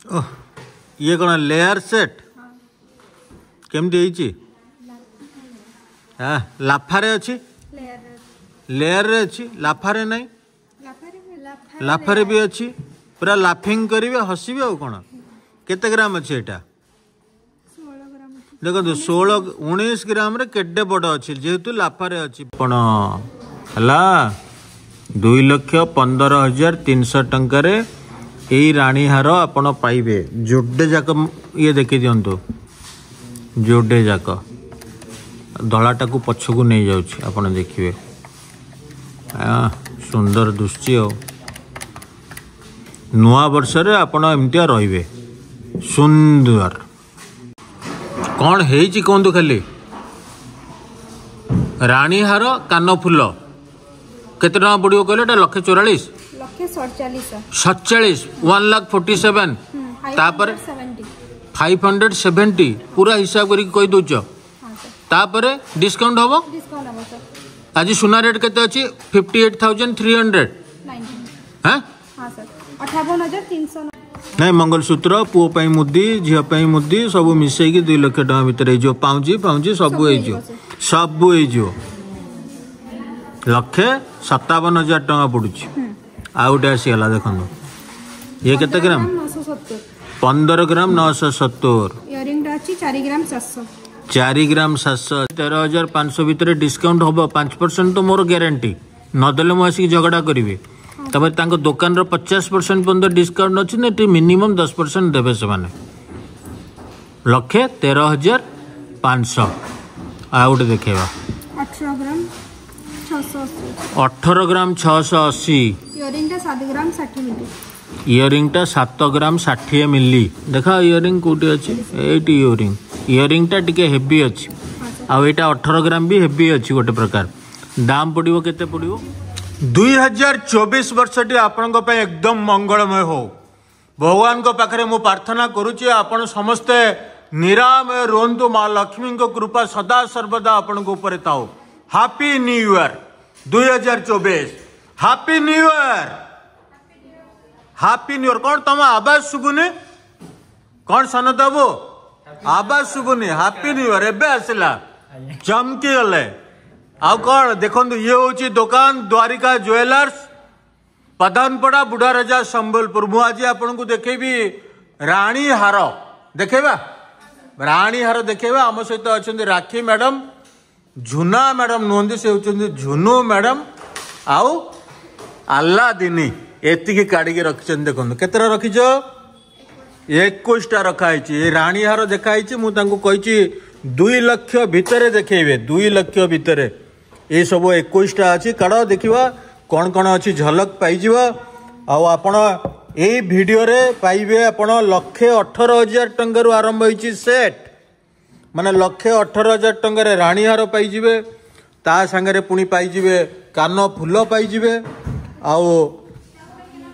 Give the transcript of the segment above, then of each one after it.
ଓହ, ଇଏ କ'ଣ layer set? କେମିତି ହେଇଛି? ହଁ, ଲାଫାରେ ଅଛି, ଲେୟାରରେ ଅଛି, ଲାଫାରେ ନାହିଁ। ଲାଫାରେ ବି ଅଛି। ପୁରା ଲାଫିଂ କରିବେ, ହସିବେ ଆଉ କ'ଣ। କେତେ ଗ୍ରାମ ଅଛି ଏଇଟା ଦେଖନ୍ତୁ? 16, 19 ଗ୍ରାମରେ କେତେ ବଡ଼ ଅଛି, ଯେହେତୁ ଲାଫାରେ ଅଛି। ଆପଣ ହେଲା 2,15,300 ଟଙ୍କାରେ ଏଇ ରାଣୀହାର ଆପଣ ପାଇବେ। ଯୋଡ଼େ ଯାକ ଇଏ ଦେଖି ଦିଅନ୍ତୁ, ଯୋଡ଼େ ଯାକ। ଧଳାଟାକୁ ପଛକୁ ନେଇଯାଉଛି, ଆପଣ ଦେଖିବେ। ସୁନ୍ଦର ଦୁଶୁଛି। ଆଉ ନୂଆ ବର୍ଷରେ ଆପଣ ଏମିତିଆ ରହିବେ ସୁନ୍ଦର। କ'ଣ ହେଇଛି କୁହନ୍ତୁ ଖାଲି। ରାଣୀହାର, କାନ ଫୁଲ କେତେ ଟଙ୍କା ପଡ଼ିବ କହିଲେ? ଏଇଟା 1,44,000, 47, 1,47,000। ତାପରେ 570, ପୁରା ହିସାବ କରିକି କହିଦେଉଛ। ତାପରେ ଡିସକାଉଣ୍ଟ ହବ। ଆଜି ସୁନା ରେଟ୍ କେତେ ଅଛି? 58,300। ହଁ, ନାଇଁ, ମଙ୍ଗଳସୂତ୍ର, ପୁଅ ପାଇଁ ମୁଦି, ଝିଅ ପାଇଁ ମୁଦି ସବୁ ମିଶେଇକି 2 ଲକ୍ଷ ଟଙ୍କା ଭିତରେ ହେଇଯିବ। ପାଉଁଜି ଫାଉଁଜି ସବୁ ହେଇଯିବ, ସବୁ ହେଇଯିବ। 1,57,000 ଟଙ୍କା ପଡୁଛି। ଆଉ ଗୋଟେ ଆସିଗଲା, ଦେଖନ୍ତୁ। ଇଏ କେତେ ଗ୍ରାମ? 15 ଗ୍ରାମ 970। 4 ଗ୍ରାମ 700। 13,500 ଭିତରେ ଡିସକାଉଣ୍ଟ ହବ 5% ତ ମୋର ଗ୍ୟାରେଣ୍ଟି। ନଦେଲେ ମୁଁ ଆସିକି ଝଗଡ଼ା କରିବି। ତାପରେ ତାଙ୍କ ଦୋକାନର 50% ପର୍ଯ୍ୟନ୍ତ ଡିସକାଉଣ୍ଟ ଅଛି ନା, ଏଠି ମିନିମମ୍ 10% ଦେବେ ସେମାନେ। 1,13,500। ଆଉ ଗୋଟେ ଦେଖେଇବା। 18 ଗ୍ରାମ 680। ଇୟରିଂଟା 7 ଗ୍ରାମ 60 ମିଲି। ଦେଖ, ଇୟରିଂ କୋଉଠି ଅଛି? ଏଇଠି ଇୟରିଂ। ଇୟରିଂଟା ଟିକେ ହେଭି ଅଛି, ଆଉ ଏଇଟା 18 ଗ୍ରାମ ବି ହେଭି ଅଛି ଗୋଟେ ପ୍ରକାର। ଦାମ ପଡ଼ିବ କେତେ ପଡ଼ିବ? 2024 ବର୍ଷଟି ଆପଣଙ୍କ ପାଇଁ ଏକଦମ ମଙ୍ଗଳମୟ ହଉ। ଭଗବାନଙ୍କ ପାଖରେ ମୁଁ ପ୍ରାର୍ଥନା କରୁଛି, ଆପଣ ସମସ୍ତେ ନିରାମୟ ରୁହନ୍ତୁ। ମା ଲକ୍ଷ୍ମୀଙ୍କ କୃପା ସଦା ସର୍ବଦା ଆପଣଙ୍କ ଉପରେ ଥାଉ। Happy new year 2024। Happy new year, happy new year. କ'ଣ ତମ ଆବାଜ ଶୁଭୁନି? କ'ଣ ସନତ ବାବୁ, ଆବାଜ ଶୁଭୁନି? ହାପି ନ୍ୟୁ ଇୟର ଏବେ ଆସିଲା, ଚମକି ଗଲେ। ଆଉ କ'ଣ ଦେଖନ୍ତୁ, ଇଏ ହେଉଛି ଦୋକାନ ଦ୍ୱାରିକା ଜୁଏଲର୍ସ, ପଧାନପଡ଼ା, ବୁଢ଼ାରଜା, ସମ୍ବଲପୁର। ମୁଁ ଆଜି ଆପଣଙ୍କୁ ଦେଖେଇବି ରାଣୀ ହାର। ଦେଖେଇବା, ରାଣୀ ହାର ଦେଖେଇବା। ଆମ ସହିତ ଅଛନ୍ତି ରାକ୍ଷୀ ମ୍ୟାଡ଼ାମ, ଝୁନା ମ୍ୟାଡ଼ାମ ନୁହନ୍ତି, ସେ ହେଉଛନ୍ତି ଝୁନୁ ମ୍ୟାଡ଼ାମ। ଆଉ ଆଲ୍ଲାଦିନି ଏତିକି କାଢ଼ିକି ରଖିଛନ୍ତି। ଦେଖନ୍ତୁ, କେତେଟା ରଖିଛ? 21ଟା ରଖା ହେଇଛି। ଏ ରାଣୀ ହାର ଦେଖା ହେଇଛି। ମୁଁ ତାଙ୍କୁ କହିଛି 2 ଲକ୍ଷ ଭିତରେ ଦେଖେଇବେ। 2 ଲକ୍ଷ ଭିତରେ ଏସବୁ 21ଟା ଅଛି। କାଢ଼, ଦେଖିବା କ'ଣ କ'ଣ ଅଛି, ଝଲକ ପାଇଯିବା। ଆଉ ଆପଣ ଏଇ ଭିଡ଼ିଓରେ ପାଇବେ, ଆପଣ 1,18,000 ଟଙ୍କାରୁ ଆରମ୍ଭ ହେଇଛି ସେଟ୍। ମାନେ 1,18,000 ଟଙ୍କାରେ ରାଣୀହାର ପାଇଯିବେ, ତା ସାଙ୍ଗରେ ପୁଣି ପାଇଯିବେ କାନ ଫୁଲ ପାଇଯିବେ।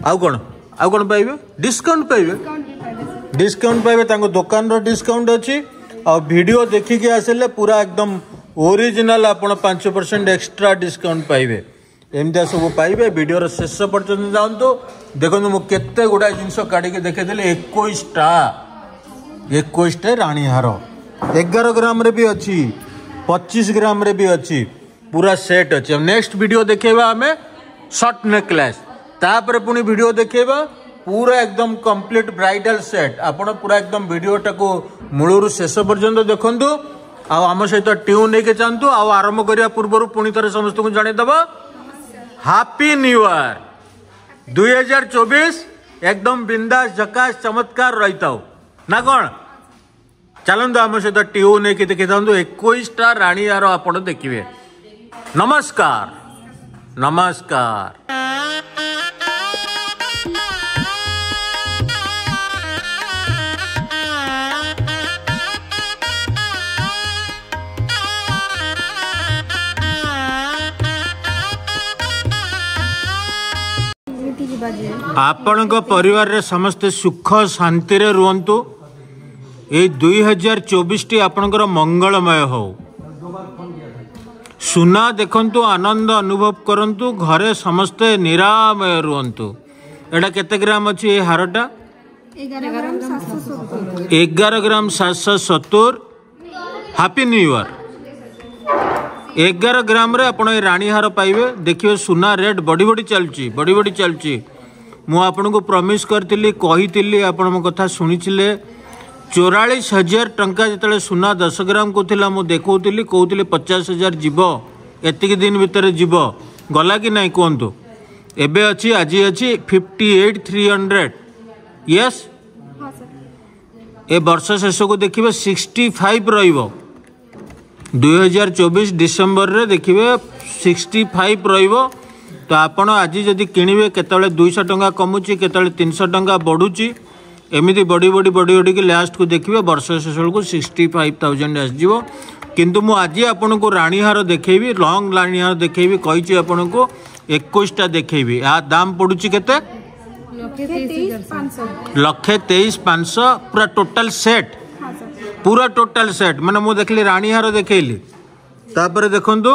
ଆଉ କ'ଣ, ଆଉ କ'ଣ ପାଇବେ? ଡିସକାଉଣ୍ଟ ପାଇବେ, ଡିସକାଉଣ୍ଟ ପାଇବେ। ତାଙ୍କ ଦୋକାନର ଡିସକାଉଣ୍ଟ ଅଛି। ଆଉ ଭିଡ଼ିଓ ଦେଖିକି ଆସିଲେ ପୁରା ଏକଦମ ଓରିଜିନାଲ ଆପଣ 5% ଏକ୍ସଟ୍ରା ଡିସକାଉଣ୍ଟ ପାଇବେ। ଏମିତିଆ ସବୁ ପାଇବେ। ଭିଡ଼ିଓର ଶେଷ ପର୍ଯ୍ୟନ୍ତ ଯାଆନ୍ତୁ। ଦେଖନ୍ତୁ, ମୁଁ କେତେ ଗୁଡ଼ାଏ ଜିନିଷ କାଢ଼ିକି ଦେଖେଇଦେଲି। 21ଟା, 21ଟା ରାଣୀହାର। 11 ଗ୍ରାମରେ ବି ଅଛି, 25 ଗ୍ରାମରେ ବି ଅଛି, ପୁରା ସେଟ୍ ଅଛି। ନେକ୍ସଟ ଭିଡ଼ିଓ ଦେଖେଇବା ଆମେ ସର୍ଟ ନେକଲେସ୍। ତାପରେ ପୁଣି ଭିଡ଼ିଓ ଦେଖେଇବା ପୁରା ଏକଦମ କମ୍ପ୍ଲିଟ୍ ବ୍ରାଇଡାଲ ସେଟ୍। ଆପଣ ପୁରା ଏକଦମ ଭିଡ଼ିଓଟାକୁ ମୂଳରୁ ଶେଷ ପର୍ଯ୍ୟନ୍ତ ଦେଖନ୍ତୁ ଆଉ ଆମ ସହିତ ଟ୍ୟୁନ୍ ହେଇକି ଯାଆନ୍ତୁ। ଆଉ ଆରମ୍ଭ କରିବା ପୂର୍ବରୁ ପୁଣି ଥରେ ସମସ୍ତଙ୍କୁ ଜଣେଇଦେବା, ହାପି ନ୍ୟୁ ଇୟର 2024। ଏକଦମ ବିନ୍ଦାସ, ଝକାସ, ଚମତ୍କାର ରହିଥାଉ ନା କ'ଣ? ଚାଲନ୍ତୁ, ଆମ ସହିତ ଟ୍ୟୁନ୍ ହେଇକି ଦେଖିଥାନ୍ତୁ। 21ଟା ରାଣୀହାର ଆପଣ ଦେଖିବେ। ନମସ୍କାର, ନମସ୍କାର। ଆପଣଙ୍କ ପରିବାରରେ ସମସ୍ତେ ସୁଖ ଶାନ୍ତିରେ ରୁହନ୍ତୁ। ଏଇ 2024ଟି ଆପଣଙ୍କର ମଙ୍ଗଳମୟ ହଉ। ସୁନା ଦେଖନ୍ତୁ, ଆନନ୍ଦ ଅନୁଭବ କରନ୍ତୁ। ଘରେ ସମସ୍ତେ ନିରାମୟ ରୁହନ୍ତୁ। ଏଇଟା କେତେ ଗ୍ରାମ ଅଛି ଏ ହାରଟା? 11 ଗ୍ରାମ 770। 11 ଗ୍ରାମ 770। Happy new year. 11 ଗ୍ରାମରେ ଆପଣ ଏ ରାଣୀହାର ପାଇବେ। ଦେଖିବେ, ସୁନା ରେଟ୍ ବଢ଼ି ବଢ଼ି ଚାଲୁଛି, ବଢ଼ି ବଢ଼ି ଚାଲୁଛି। ମୁଁ ଆପଣଙ୍କୁ ପ୍ରମିସ୍ କରିଥିଲି, କହିଥିଲି, ଆପଣ ମୋ କଥା ଶୁଣିଥିଲେ। 44,000 ଟଙ୍କା ଯେତେବେଳେ ସୁନା 10 ଗ୍ରାମକୁ ଥିଲା, ମୁଁ ଦେଖାଉଥିଲି, କହୁଥିଲି 50,000 ଯିବ, ଏତିକି ଦିନ ଭିତରେ ଯିବ। ଗଲା କି ନାହିଁ କୁହନ୍ତୁ? ଏବେ ଅଛି, ଆଜି ଅଛି 58,300। ୟେସ୍। ହଁ ସାର୍। ଏ ବର୍ଷ ଶେଷକୁ ଦେଖିବେ 65 ରହିବ। 2024 ଡିସେମ୍ବରରେ ଦେଖିବେ 65 ରହିବ। ତ ଆପଣ ଆଜି ଯଦି କିଣିବେ, କେତେବେଳେ 200 ଟଙ୍କା କମୁଛି, କେତେବେଳେ 300 ଟଙ୍କା ବଢ଼ୁଛି, ଏମିତି ବଢ଼ି ବଢ଼ି ବଢ଼ି ବଢ଼ିକି ଲାଷ୍ଟକୁ ଦେଖିବେ ବର୍ଷ ଶେଷ ବେଳକୁ 65,000 ଆସିଯିବ। କିନ୍ତୁ ମୁଁ ଆଜି ଆପଣଙ୍କୁ ରାଣୀହାର ଦେଖେଇବି, ଲଙ୍ଗ ରାଣୀହାର ଦେଖେଇବି କହିଛି ଆପଣଙ୍କୁ। 21ଟା ଦେଖେଇବି। ୟା ଦାମ ପଡ଼ୁଛି କେତେ? 1,23,500। 1,23,500, ପୁରା ଟୋଟାଲ ସେଟ୍। ହଁ ସାର୍। ପୁରା ଟୋଟାଲ ସେଟ୍ ମାନେ ମୁଁ ଦେଖିଲି, ରାଣୀହାର ଦେଖେଇଲି, ତାପରେ ଦେଖନ୍ତୁ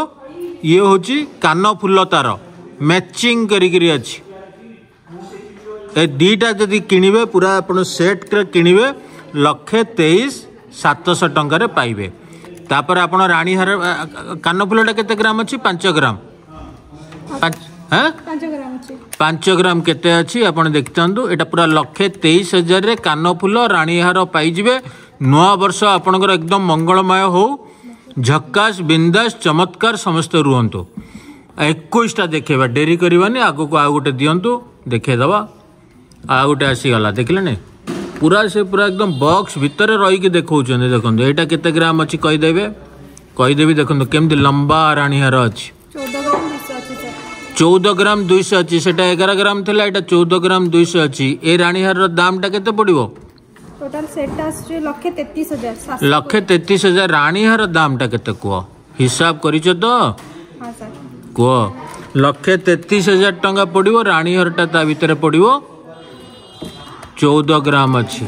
ଇଏ ହେଉଛି କାନ ଫୁଲ, ତାର ମ୍ୟାଚିଂ କରିକିରି ଅଛି। ଏ ଦୁଇଟା ଯଦି କିଣିବେ, ପୁରା ଆପଣ ସେଟ୍ରେ କିଣିବେ, 1,23,700 ଟଙ୍କାରେ ପାଇବେ। ତାପରେ ଆପଣ ରାଣୀହାର, କାନ ଫୁଲଟା କେତେ ଗ୍ରାମ ଅଛି? 5 ଗ୍ରାମ, 5, ହଁ। 5 ଗ୍ରାମ ଅଛି। 5 ଗ୍ରାମ କେତେ ଅଛି ଆପଣ ଦେଖିଥାନ୍ତୁ। ଏଇଟା ପୁରା 1,23,000ରେ କାନଫୁଲ, ରାଣୀହାର ପାଇଯିବେ। ନୂଆ ବର୍ଷ ଆପଣଙ୍କର ଏକଦମ ମଙ୍ଗଳମୟ ହଉ, ଝକାସ, ବିନ୍ଦାସ, ଚମତ୍କାର ସମସ୍ତେ ରୁହନ୍ତୁ। 21ଟା ଦେଖେଇବା, ଡେରି କରିବାନି। ଆଗକୁ ଆଉ ଗୋଟେ ଦିଅନ୍ତୁ, ଦେଖେଇଦେବା। ଆଉ ଗୋଟେ ଆସିଗଲା, ଦେଖିଲେନି? ପୁରା ସେ ପୁରା ଏକଦମ ବକ୍ସ ଭିତରେ ରହିକି ଦେଖାଉଛନ୍ତି। ଦେଖନ୍ତୁ, ଏଇଟା କେତେ ଗ୍ରାମ ଅଛି କହିଦେବେ, କହିଦେବି। ଦେଖନ୍ତୁ କେମିତି ଲମ୍ବା ରାଣୀହାର ଅଛି। 14 ଗ୍ରାମ 200 ଅଛି ସାର୍। 14 ଗ୍ରାମ 200 ଅଛି। ସେଟା 11 ଗ୍ରାମ ଥିଲା, ଏଇଟା 14 ଗ୍ରାମ 200 ଅଛି। ଏ ରାଣୀହାରର ଦାମଟା କେତେ ପଡ଼ିବ? ଟୋଟାଲ ସେଟ୍ଟା ଆସୁଛି 1,33,700। 1,33,000। ରାଣୀହାର ଦାମଟା କେତେ କୁହ? ହିସାବ କରିଛ ତ? ହଁ ସାର୍। କୁହ। 1,33,000 ଟଙ୍କା ପଡ଼ିବ ରାଣୀହାରଟା, ତା ଭିତରେ ପଡ଼ିବ 14 ଗ୍ରାମ ଅଛି।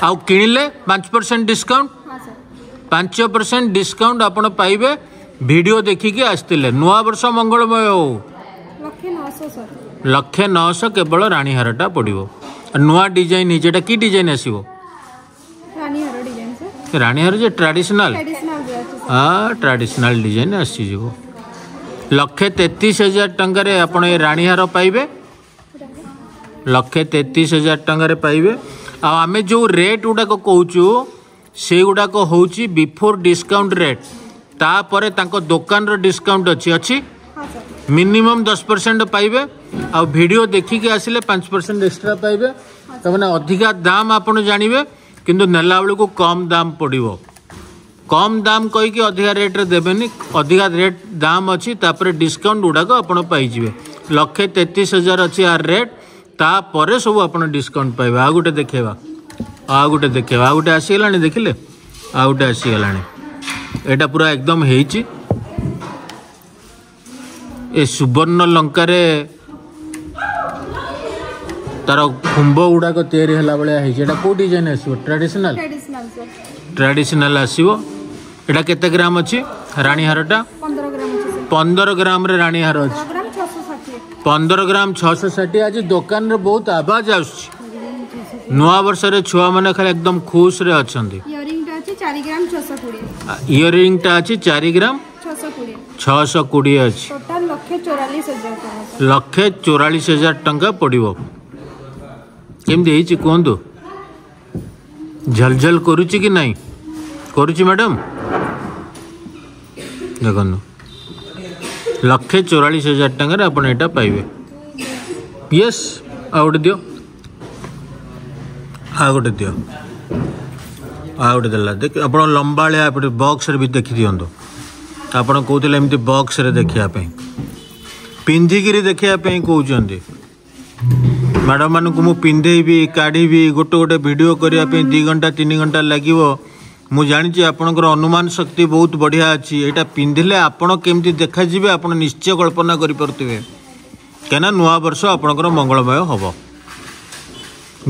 ଆଉ କିଣିଲେ 5% ଡିସକାଉଣ୍ଟ। ହଁ ସାର୍। 5% ଡିସକାଉଣ୍ଟ ଆପଣ ପାଇବେ ଭିଡ଼ିଓ ଦେଖିକି ଆସିଥିଲେ। ନୂଆ ବର୍ଷ ମଙ୍ଗଳମୟ ହଉ। 1,00,900 ସାର୍। 1,00,900 କେବଳ ରାଣୀହାରଟା ପଡ଼ିବ। ନୂଆ ଡିଜାଇନ ହେଇଛି। ଏଇଟା କି ଡିଜାଇନ ଆସିବ? ରାଣୀହାର ଡିଜାଇନ ସାର୍। ରାଣୀହାର ଯେ ଟ୍ରାଡିସନାଲ। ଟ୍ରାଡିସନାଲ ବି ଅଛି ସାର୍। ହଁ, ଟ୍ରାଡିସନାଲ ଡିଜାଇନ ଆସିଯିବ। 1,33,000 ଟଙ୍କାରେ ଆପଣ ଏ ରାଣୀହାର ପାଇବେ। 1,33,000 ଟଙ୍କାରେ ପାଇବେ। ଆଉ ଆମେ ଯେଉଁ ରେଟ୍ ଗୁଡ଼ାକ କହୁଛୁ, ସେଇଗୁଡ଼ାକ ହେଉଛି ବିଫୋର୍ ଡିସକାଉଣ୍ଟ ରେଟ୍। ତାପରେ ତାଙ୍କ ଦୋକାନର ଡିସକାଉଣ୍ଟ ଅଛି, ଅଛି। ହଁ ସାର୍। ମିନିମମ୍ 10% ପାଇବେ। ଆଉ ଭିଡ଼ିଓ ଦେଖିକି ଆସିଲେ 5% ଏକ୍ସଟ୍ରା ପାଇବେ। ତାମାନେ ଅଧିକା ଦାମ ଆପଣ ଜାଣିବେ, କିନ୍ତୁ ନେଲା ବେଳକୁ କମ୍ ଦାମ ପଡ଼ିବ। କମ୍ ଦାମ କହିକି ଅଧିକା ରେଟ୍ରେ ଦେବେନି। ଅଧିକା ରେଟ୍ ଦାମ ଅଛି, ତାପରେ ଡିସକାଉଣ୍ଟ ଗୁଡ଼ାକ ଆପଣ ପାଇଯିବେ। 1,33,000 ଅଛି ଆର ରେଟ୍, ତାପରେ ସବୁ ଆପଣ ଡିସକାଉଣ୍ଟ ପାଇବେ। ଆଉ ଗୋଟେ ଦେଖେଇବା, ଆଉ ଗୋଟେ ଦେଖେଇବା। ଆଉ ଗୋଟେ ଆସିଗଲାଣି, ଦେଖିଲେ? ଆଉ ଗୋଟେ ଆସିଗଲାଣି। ଏଇଟା ପୁରା ଏକଦମ ହେଇଛି। ଏ ସୁବର୍ଣ୍ଣ ଲଙ୍କାରେ ତାର ଖୁମ୍ବ ଗୁଡ଼ାକ ତିଆରି ହେଲା ଭଳିଆ ହେଇଛି। ଏଇଟା କୋଉ ଡିଜାଇନ ଆସିବ? ଟ୍ରାଡିସନାଲ। Traditional sir. Traditional ଆସିବ। ଏଇଟା କେତେ ଗ୍ରାମ ଅଛି ରାଣୀହାରଟା? 15 ଗ୍ରାମ ଅଛି ସାର୍। 15 ଗ୍ରାମରେ ରାଣୀହାର ଅଛି। 15 ଗ୍ରାମ 660। 15 ଗ୍ରାମ 660। ଆଜି ଦୋକାନରେ ବହୁତ ଆବାଜ ଆସୁଛି। ନୂଆ ବର୍ଷରେ ଛୁଆମାନେ ଖାଲି ଏକଦମ ଖୁସରେ ଅଛନ୍ତି। ଇୟରିଂଟା ଅଛି 4 ଗ୍ରାମ 620। ଇୟରିଂଟା ଅଛି 4 ଗ୍ରାମ 620। 620 ଅଛି। ଟୋଟାଲ 1,44,000 ଟଙ୍କା ସାର୍। 1,44,000 ଟଙ୍କା ପଡ଼ିବ। କେମିତି ହେଇଛି କୁହନ୍ତୁ? ଝଲଝଲ କରୁଛି କି ନାହିଁ? କରୁଛି ମ୍ୟାଡ଼ାମ। ଦେଖନ୍ତୁ, 1,44,000 ଟଙ୍କାରେ ଆପଣ ଏଇଟା ପାଇବେ। ୟେସ୍, ଆଉ ଗୋଟେ ଦିଅ, ଆଉ ଗୋଟେ ଦିଅ। ଆଉ ଗୋଟେ ଦେଲା। ଦେଖ, ଆପଣ ଲମ୍ବାଳିଆ ଏପଟେ ବକ୍ସରେ ବି ଦେଖିଦିଅନ୍ତୁ। ଆପଣ କହୁଥିଲେ ଏମିତି ବକ୍ସରେ ଦେଖିବା ପାଇଁ, ପିନ୍ଧିକିରି ଦେଖିବା ପାଇଁ କହୁଛନ୍ତି। ମ୍ୟାଡ଼ାମମାନଙ୍କୁ ମୁଁ ପିନ୍ଧେଇବି, କାଢ଼ିବି, ଗୋଟେ ଗୋଟେ ଭିଡ଼ିଓ କରିବା ପାଇଁ 2 ଘଣ୍ଟା 3 ଘଣ୍ଟା ଲାଗିବ। ମୁଁ ଜାଣିଛି ଆପଣଙ୍କର ଅନୁମାନ ଶକ୍ତି ବହୁତ ବଢ଼ିଆ ଅଛି। ଏଇଟା ପିନ୍ଧିଲେ ଆପଣ କେମିତି ଦେଖାଯିବେ, ଆପଣ ନିଶ୍ଚୟ କଳ୍ପନା କରିପାରୁଥିବେ। କାହିଁକିନା ନୂଆ ବର୍ଷ ଆପଣଙ୍କର ମଙ୍ଗଳମୟ ହେବ।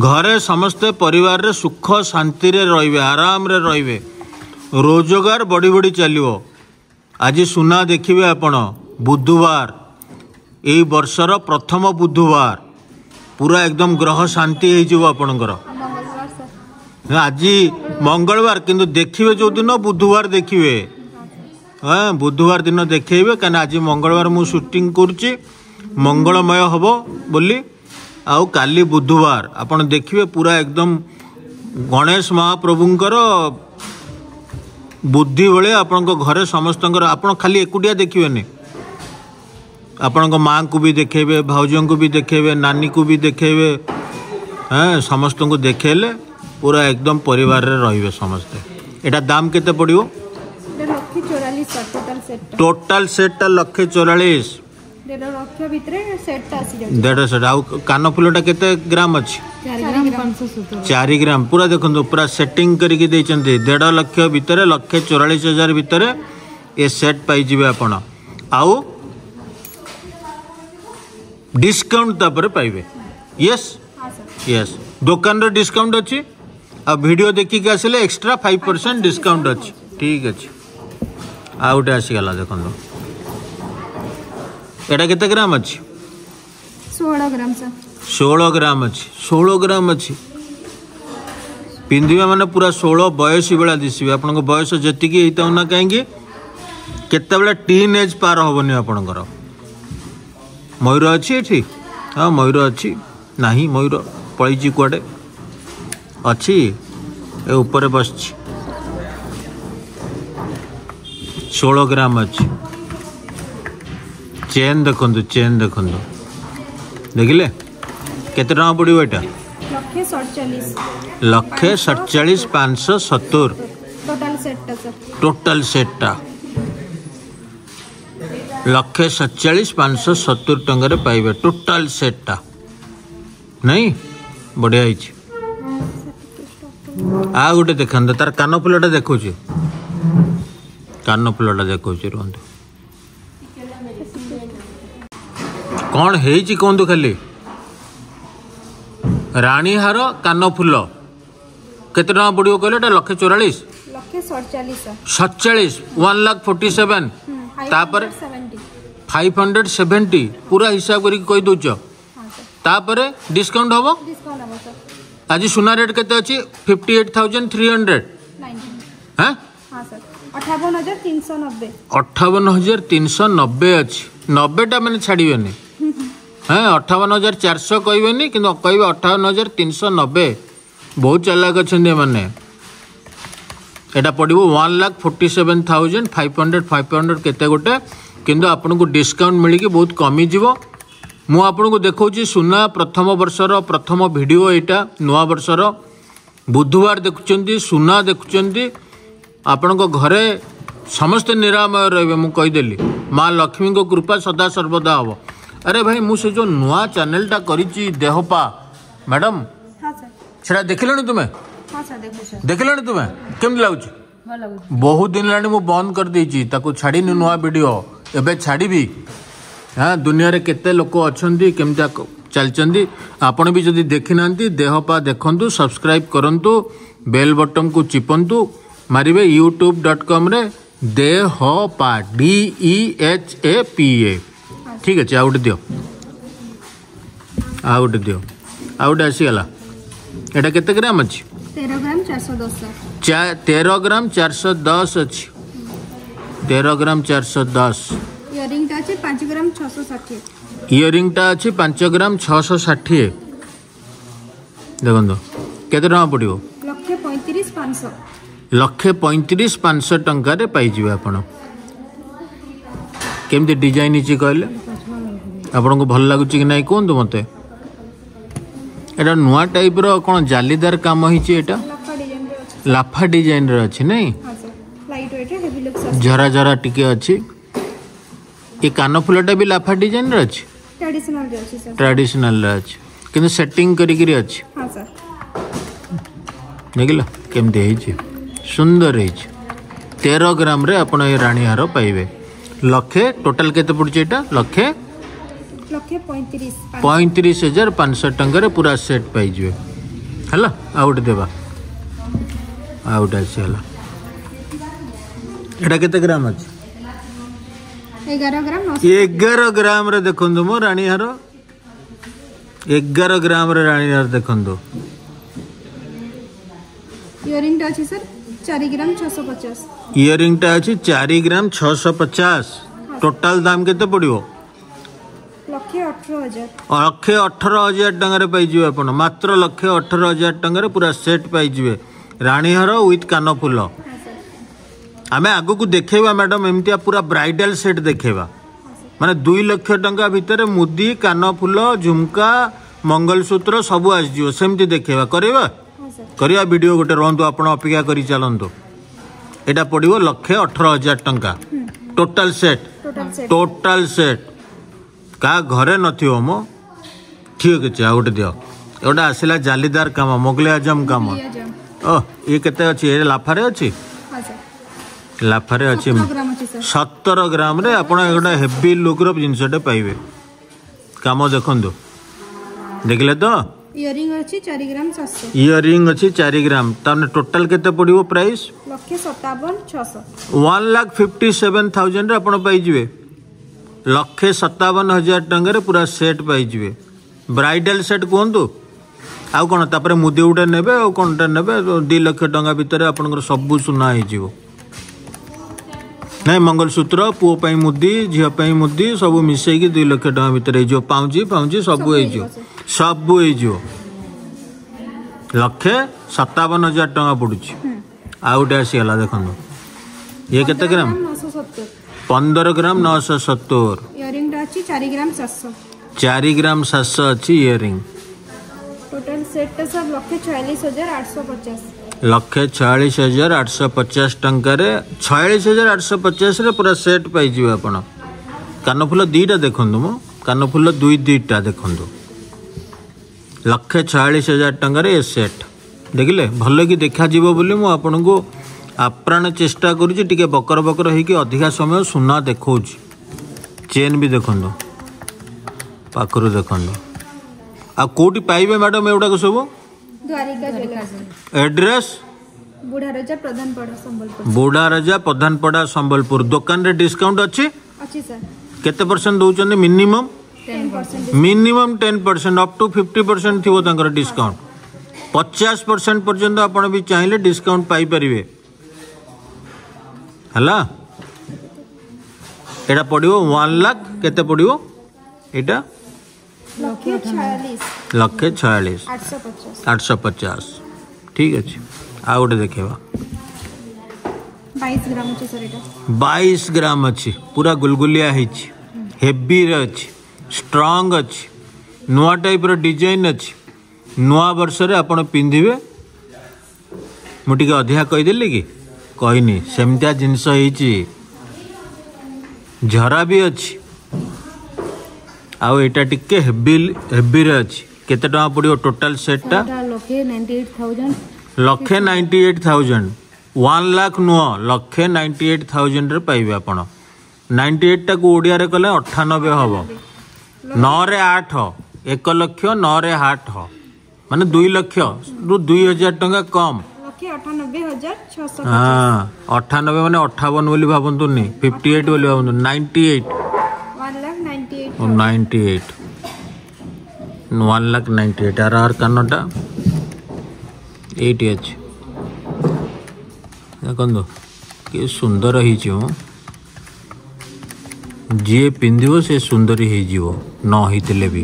ଘରେ ସମସ୍ତେ ପରିବାରରେ ସୁଖ ଶାନ୍ତିରେ ରହିବେ, ଆରାମରେ ରହିବେ, ରୋଜଗାର ବଢ଼ି ବଢ଼ି ଚାଲିବ। ଆଜି ସୁନା ଦେଖିବେ ଆପଣ, ବୁଧବାର, ଏଇ ବର୍ଷର ପ୍ରଥମ ବୁଧବାର, ପୁରା ଏକଦମ ଗ୍ରହ ଶାନ୍ତି ହେଇଯିବ ଆପଣଙ୍କର। ଆଜି ମଙ୍ଗଳବାର, କିନ୍ତୁ ଦେଖିବେ ଯେଉଁଦିନ ବୁଧବାର ଦେଖିବେ। ହଁ, ବୁଧବାର ଦିନ ଦେଖେଇବେ, କାହିଁକିନା ଆଜି ମଙ୍ଗଳବାର ମୁଁ ସୁଟିଂ କରୁଛି, ମଙ୍ଗଳମୟ ହେବ ବୋଲି। ଆଉ କାଲି ବୁଧବାର ଆପଣ ଦେଖିବେ ପୁରା ଏକଦମ ଗଣେଶ ମହାପ୍ରଭୁଙ୍କର ବୁଦ୍ଧି ଭଳିଆ ଆପଣଙ୍କ ଘରେ ସମସ୍ତଙ୍କର। ଆପଣ ଖାଲି ଏକୁଟିଆ ଦେଖିବେନି, ଆପଣଙ୍କ ମାଆଙ୍କୁ ବି ଦେଖେଇବେ, ଭାଉଜଙ୍କୁ ବି ଦେଖେଇବେ, ନାନୀକୁ ବି ଦେଖେଇବେ। ହଁ, ସମସ୍ତଙ୍କୁ ଦେଖେଇଲେ ପୁରା ଏକଦମ ପରିବାରରେ ରହିବେ ସମସ୍ତେ। ଏଇଟା ଦାମ କେତେ ପଡ଼ିବ? ଏଇଟା 1,44,000 ସାର୍, ଟୋଟାଲ ସେଟ୍ଟା। ଟୋଟାଲ ସେଟ୍ଟା 1,44,000। 1.5 ଲକ୍ଷ ଭିତରେ ସେଟ୍ଟା ଆସିଯାଉଛି। ଦେଢ଼ ସେଟ୍। ଆଉ କାନଫୁଲଟା କେତେ ଗ୍ରାମ ଅଛି? 4 ଗ୍ରାମ 570। 4 ଗ୍ରାମ। ପୁରା ଦେଖନ୍ତୁ, ପୁରା ସେଟିଂ କରିକି ଦେଇଛନ୍ତି। 1.5 ଲକ୍ଷ ଭିତରେ, 1,44,000 ଭିତରେ ଏ ସେଟ୍ ପାଇଯିବେ ଆପଣ। ଆଉ ଡିସକାଉଣ୍ଟ ତାପରେ ପାଇବେ। ୟେସ୍? ହଁ ସାର୍। ୟେସ୍, ଦୋକାନରେ ଡିସକାଉଣ୍ଟ ଅଛି, ଆଉ ଭିଡ଼ିଓ ଦେଖିକି ଆସିଲେ ଏକ୍ସଟ୍ରା 5% ଡିସକାଉଣ୍ଟ ଅଛି। ଠିକ୍ ଅଛି। ଆଉ ଗୋଟେ ଆସିଗଲା, ଦେଖନ୍ତୁ। ଏଇଟା କେତେ ଗ୍ରାମ ଅଛି? 16 ଗ୍ରାମ ସାର୍। 16 ଗ୍ରାମ ଅଛି। 16 ଗ୍ରାମ ଅଛି। ପିନ୍ଧିବେ ମାନେ ପୁରା 16 ବୟସୀ ଭଳିଆ ଦିଶିବେ। ଆପଣଙ୍କ ବୟସ ଯେତିକି ହେଇଥାଉ ନା କାହିଁକି, କେତେବେଳେ ଟିନ୍ ଏଜ୍ ପାର ହେବନି ଆପଣଙ୍କର। ମୟୂର ଅଛି ଏଠି? ହଁ, ମୟୂର ଅଛି। ନାହିଁ, ମୟୂର ପଳେଇଛି କୁଆଡ଼େ। ଅଛି, ଏ ଉପରେ ବସିଛି। 16 ଗ୍ରାମ ଅଛି। ଚେନ୍ ଦେଖନ୍ତୁ, ଚେନ୍ ଦେଖନ୍ତୁ। ଦେଖିଲେ? କେତେ ଟଙ୍କା ପଡ଼ିବ ଏଇଟା? 1,47,000। 1,47,570। ଟୋଟାଲ ସେଟ୍ଟା ସାର୍। ଟୋଟାଲ ସେଟ୍ଟା 1,47,570 ଟଙ୍କାରେ ପାଇବେ ଟୋଟାଲ ସେଟ୍ଟା। ନାଇଁ, ବଢ଼ିଆ ହେଇଛି। ଆଉ ଗୋଟେ ଦେଖନ୍ତୁ, ତାର କାନଫୁଲଟା ଦେଖୁଛି, କାନଫୁଲଟା ଦେଖୁଛି, ରୁହନ୍ତୁ। କ'ଣ ହେଇଛି କୁହନ୍ତୁ ଖାଲି। ରାଣୀହାର, କାନଫୁଲ କେତେ ଟଙ୍କା ପଡ଼ିବ କହିଲେ? ଏଇଟା 1,44,000। 1,47,000 ସାର୍। 47, 1,47,000। ତାପରେ? 70। 570, ପୁରା ହିସାବ କରିକି କହିଦେଉଛ। ହଁ ସାର୍। ତାପରେ ଡିସକାଉଣ୍ଟ ହେବ? ଡିସକାଉଣ୍ଟ ହେବ ସାର୍। ଆଜି ସୁନା ରେଟ୍ କେତେ ଅଛି? 58,300। 90। ହଁ। ହଁ ସାର୍, 58,390। 58,390 ଅଛି। 90ଟା ମାନେ ଛାଡ଼ିବେନି। ହଁ, 58,400 କହିବେନି, କିନ୍ତୁ କହିବେ 58,390। ବହୁତ ଚାଲାକ ଅଛନ୍ତି ଏମାନେ। ଏଇଟା ପଡ଼ିବ 1,47,500, 500 କେତେ ଗୋଟେ, କିନ୍ତୁ ଆପଣଙ୍କୁ ଡିସକାଉଣ୍ଟ ମିଳିକି ବହୁତ କମିଯିବ। ମୁଁ ଆପଣଙ୍କୁ ଦେଖାଉଛି ସୁନା ପ୍ରଥମ ବର୍ଷର ପ୍ରଥମ ଭିଡ଼ିଓ ଏଇଟା। ନୂଆ ବର୍ଷର ବୁଧବାର ଦେଖୁଛନ୍ତି, ସୁନା ଦେଖୁଛନ୍ତି। ଆପଣଙ୍କ ଘରେ ସମସ୍ତେ ନିରାମୟ ରହିବେ, ମୁଁ କହିଦେଲି। ମା ଲକ୍ଷ୍ମୀଙ୍କ କୃପା ସଦା ସର୍ବଦା ହେବ। ଆରେ ଭାଇ, ମୁଁ ସେ ଯେଉଁ ନୂଆ ଚ୍ୟାନେଲଟା କରିଛି ଦେହପା ମ୍ୟାଡ଼ାମ୍, ହଁ ସାର୍। ସେଟା ଦେଖିଲଣି ତୁମେ? ହଁ ସାର୍, ଦେଖୁଛି। ଦେଖିଲଣି ତୁମେ? କେମିତି ଲାଗୁଛି? ଭଲ ଲାଗୁଛି। ବହୁତ ଦିନ ହେଲାଣି ମୁଁ ବନ୍ଦ କରିଦେଇଛି ତାକୁ, ଛାଡ଼ିନି ନୂଆ ଭିଡ଼ିଓ। ଏବେ ଛାଡ଼ିବି। ହଁ, ଦୁନିଆରେ କେତେ ଲୋକ ଅଛନ୍ତି, କେମିତି ଚାଲିଛନ୍ତି। ଆପଣ ବି ଯଦି ଦେଖିନାହାନ୍ତି, ଦେହ ପା ଦେଖନ୍ତୁ, ସବସ୍କ୍ରାଇବ୍ କରନ୍ତୁ, ବେଲ୍ ବଟନ୍କୁ ଚିପନ୍ତୁ। ମାରିବେ ୟୁଟ୍ୟୁବ୍.କମ୍ରେ ଦେହ ପା, DEHAPA। ଠିକ୍ ଅଛି। ଆଉ ଗୋଟେ ଦିଅ, ଆଉ ଗୋଟେ ଦିଅ। ଆଉ ଗୋଟେ ଆସିଗଲା। ଏଇଟା କେତେ ଗ୍ରାମ ଅଛି? 13 ଗ୍ରାମ 410 ସାର୍। 13 ଗ୍ରାମ 410 ଅଛି। 13 ଗ୍ରାମ 410। ଇୟରିଂଟା ଅଛି 5 ଗ୍ରାମ 660। ଇୟରିଂଟା ଅଛି 5 ଗ୍ରାମ 660। ଦେଖନ୍ତୁ, କେତେ ଟଙ୍କା ପଡ଼ିବ? 1,35,500। 1,35,500 ଟଙ୍କାରେ ପାଇଯିବେ ଆପଣ। କେମିତି ଡିଜାଇନ୍ ହେଇଛି କହିଲେ? ଆପଣଙ୍କୁ ଭଲ ଲାଗୁଛି କି ନାହିଁ କୁହନ୍ତୁ ମୋତେ। ଏଇଟା ନୂଆ ଟାଇପ୍ର କ'ଣ ଜାଲିଦାର କାମ ହେଇଛି ଏଇଟା। ଲାଫା ଡିଜାଇନରେ ଅଛି। ଲାଫା ଡିଜାଇନ୍ର ଅଛି, ନାଇଁ? ହଁ sir, lightweight, heavy looks ଅଛି। ଝରା ଝରା ଟିକେ ଅଛି। ଏ କାନଫୁଲଟା ବି ଲାଫା ଡିଜାଇନ୍ର ଅଛି। ଟ୍ରାଡିସନାଲରେ ଅଛି ସାର୍। ଟ୍ରାଡିସନାଲରେ ଅଛି, କିନ୍ତୁ ସେଟିଂ କରିକିରି ଅଛି। ହଁ ସାର୍। ଦେଖିଲ କେମିତି ହେଇଛି? ସୁନ୍ଦର ହେଇଛି। 13 ଗ୍ରାମରେ ଆପଣ ଏ ରାଣୀହାର ପାଇବେ। ଲକ୍ଷେ ଟୋଟାଲ କେତେ ପଡ଼ୁଛି ଏଇଟା? ଲକ୍ଷେ 1,35,000। 35,500 ଟଙ୍କାରେ ପୁରା ସେଟ୍ ପାଇଯିବେ। ହେଲା, ଆଉ ଗୋଟେ ଦେବା। ଆଉ ଗୋଟେ ଆସିଗଲା। ଏଇଟା କେତେ ଗ୍ରାମ ଅଛି? 11 ଗ୍ରାମ 900। 11 ଗ୍ରାମରେ ଦେଖନ୍ତୁ ମୋ ରାଣୀହାର। 11 ଗ୍ରାମରେ ରାଣୀହାର ଦେଖନ୍ତୁ। ଇୟରିଂଟା ଅଛି ସାର୍ 4 ଗ୍ରାମ 650। ଇୟରିଂଟା ଅଛି 4 ଗ୍ରାମ 650। ଟୋଟାଲ ଦାମ କେତେ ପଡ଼ିବ? 1,18,000। 1,18,000 ଟଙ୍କାରେ ପାଇଯିବେ ଆପଣ। ମାତ୍ର 1,18,000 ଟଙ୍କାରେ ପୁରା ସେଟ୍ ପାଇଯିବେ, ରାଣୀହାର ୱିଥ୍ କାନଫୁଲ। ହଁ ସାର୍। ଆମେ ଆଗକୁ ଦେଖେଇବା ମ୍ୟାଡ଼ାମ୍, ଏମିତିଆ ପୁରା ବ୍ରାଇଡାଲ ସେଟ୍ ଦେଖେଇବା। ହଁ ସାର୍। ମାନେ 2 ଲକ୍ଷ ଟଙ୍କା ଭିତରେ ମୁଦି, କାନଫୁଲ, ଝୁମକା, ମଙ୍ଗଳସୂତ୍ର ସବୁ ଆସିଯିବ। ସେମିତି ଦେଖେଇବା, କରିବା? ହଁ ସାର୍। କରିବା ଭିଡ଼ିଓ ଗୋଟେ। ରୁହନ୍ତୁ ଆପଣ, ଅପେକ୍ଷା କରି ଚାଲନ୍ତୁ। ଏଇଟା ପଡ଼ିବ 1,18,000 ଟଙ୍କା total set. Total set. Total set କାହା ଘରେ ନଥିବ ମ। ଠିକ୍ ଅଛି, ଆଉ ଗୋଟେ ଦିଅ। ଗୋଟେ ଆସିଲା ଜାଲିଦାର କାମ, ମୋଗଲେ ଆଜମ କାମ। ଓ, ଇଏ କେତେ ଅଛି? ଏ ଲାଫାରେ ଅଛି? ହଁ ସାର୍। ଲାଫାରେ ଅଛି। 17 ଗ୍ରାମ ଅଛି ସାର୍। 17 ଗ୍ରାମରେ ଆପଣ ଗୋଟେ ହେଭି ଲୁକ୍ର ଜିନିଷଟେ ପାଇବେ। କାମ ଦେଖନ୍ତୁ, ଦେଖିଲେ ତ? ଇୟରିଂ ଅଛି 4 ଗ୍ରାମ 700। ଇୟରିଂ ଅଛି 4 ଗ୍ରାମ। ତାହେଲେ ଟୋଟାଲ କେତେ ପଡ଼ିବ ପ୍ରାଇସ୍? 1,57,600। 1,57,000ରେ ଆପଣ ପାଇଯିବେ। 1,57,000 ଟଙ୍କାରେ ପୁରା ସେଟ୍ ପାଇଯିବେ। ବ୍ରାଇଡାଲ ସେଟ୍ କୁହନ୍ତୁ ଆଉ କ'ଣ। ତାପରେ ମୁଦି ଗୋଟେ ନେବେ ଆଉ କ'ଣଟା ନେବେ, 2 ଲକ୍ଷ ଟଙ୍କା ଭିତରେ ଆପଣଙ୍କର ସବୁ ସୁନା ହେଇଯିବ। ନାଇଁ, ମଙ୍ଗଳସୂତ୍ର, ପୁଅ ପାଇଁ ମୁଦି, ଝିଅ ପାଇଁ ମୁଦି, ସବୁ ମିଶେଇକି 2 ଲକ୍ଷ ଟଙ୍କା ଭିତରେ ହେଇଯିବ। ପାଉଁଜି ଫାଉଁଜି ସବୁ ସବୁ ହେଇଯିବ। ହେଇଯିବ। ସବୁ ହେଇଯିବ। 1,57,000 ଟଙ୍କା ପଡ଼ୁଛି। ଆଉ ଗୋଟେ ଆସିଗଲା, ଦେଖନ୍ତୁ। ଇଏ କେତେ ଗ୍ରାମ? 970। 15 ଗ୍ରାମ 970। ଇୟରିଂଟା ଅଛି 4 ଗ୍ରାମ 700। 4 ଗ୍ରାମ 700 ଅଛି ଇୟରିଂ। ଟୋଟାଲ ସେଟ୍ଟା ସାର୍ 1,46,850। 1,46,850 ଟଙ୍କାରେ, 46,850ରେ ପୁରା ସେଟ୍ ପାଇଯିବେ ଆପଣ। କାନଫୁଲ ଦୁଇଟା ଦେଖନ୍ତୁ, ମୁଁ କାନଫୁଲ ଦୁଇ ଦୁଇଟା ଦେଖନ୍ତୁ। 1,46,000 ଟଙ୍କାରେ ଏ ସେଟ୍। ଦେଖିଲେ, ଭଲ କି ଦେଖାଯିବ ବୋଲି ମୁଁ ଆପଣଙ୍କୁ ଆପ୍ରାଣ ଚେଷ୍ଟା କରୁଛି। ଟିକେ ବକର ବକର ହେଇକି ଅଧିକା ସମୟ ସୁନା ଦେଖାଉଛି। ଚେନ୍ ବି ଦେଖନ୍ତୁ, ପାଖରୁ ଦେଖନ୍ତୁ। ଆଉ କେଉଁଠି ପାଇବେ ମ୍ୟାଡ଼ାମ୍ ଏଗୁଡ଼ାକ ସବୁ? ଦ୍ୱାରିକା ଜୁଏଲର୍ସ। ଆଡ୍ରେସ୍? ବୁଢ଼ାରଜା, ପ୍ରଧାନପଡ଼ା, ସମ୍ବଲପୁର। ବୁଢ଼ାରଜା, ପ୍ରଧାନପଡ଼ା, ସମ୍ବଲପୁର। ଦୋକାନରେ ଡିସକାଉଣ୍ଟ ଅଛି? ଅଛି ସାର୍। କେତେ ପରସେଣ୍ଟ ଦେଉଛନ୍ତି ମିନିମମ୍? 10%। ମିନିମମ୍ 10%, ଅପ୍ ଟୁ 50% ଥିବ ତାଙ୍କର ଡିସକାଉଣ୍ଟ। 50% ପର୍ଯ୍ୟନ୍ତ ଆପଣ ବି ଚାହିଁଲେ ଡିସକାଉଣ୍ଟ ପାଇପାରିବେ। ହେଲା, ଏଇଟା ପଡ଼ିବ 1 ଲାଖ କେତେ ପଡ଼ିବ ଏଇଟା? 1,46। 1,46 850। 850। ଠିକ୍ ଅଛି, ଆଉ ଗୋଟେ ଦେଖେଇବା। 22 ଗ୍ରାମ ଅଛି ସାର୍ ଏଇଟା। 22 ଗ୍ରାମ ଅଛି। ପୁରା ଗୁଲଗୁଲିଆ ହେଇଛି, ହେଭିରେ ଅଛି, ଷ୍ଟ୍ରଙ୍ଗ ଅଛି, ନୂଆ ଟାଇପ୍ର ଡିଜାଇନ୍ ଅଛି। ନୂଆ ବର୍ଷରେ ଆପଣ ପିନ୍ଧିବେ। ମୁଁ ଟିକେ ଅଧିକା କହିଦେଲି କି? କହିନି, ସେମିତିଆ ଜିନିଷ ହେଇଛି। ଝରା ବି ଅଛି। ଆଉ ଏଇଟା ଟିକେ ହେଭି, ହେଭିରେ ଅଛି। କେତେ ଟଙ୍କା ପଡ଼ିବ ଟୋଟାଲ ସେଟ୍ଟା? ଏଟା 1,98,000। 1,98,000। 1 ଲାଖ ନୁହଁ, 1,98,000ରେ ପାଇବେ ଆପଣ। 98ଟାକୁ ଓଡ଼ିଆରେ କଲେ 98 ହବ। ନଅରେ ଆଠ, 1 ଲକ୍ଷ, ନଅରେ ଆଠ ମାନେ 2 ଲକ୍ଷରୁ 2,000 ଟଙ୍କା କମ୍। 1,98,650। ହଁ, 98 ମାନେ 58 ବୋଲି ଭାବନ୍ତୁନି, 58 ବୋଲି ଭାବନ୍ତୁ, 98। 1,98,000। 98, 1 ଲାଖ 98। ଆର ଆର କାନଟା ଏଇଠି ଅଛି, ଦେଖନ୍ତୁ କି ସୁନ୍ଦର ହେଇଛି ମ। ଯିଏ ପିନ୍ଧିବ ସେ ସୁନ୍ଦରୀ ହେଇଯିବ, ନ ହେଇଥିଲେ ବି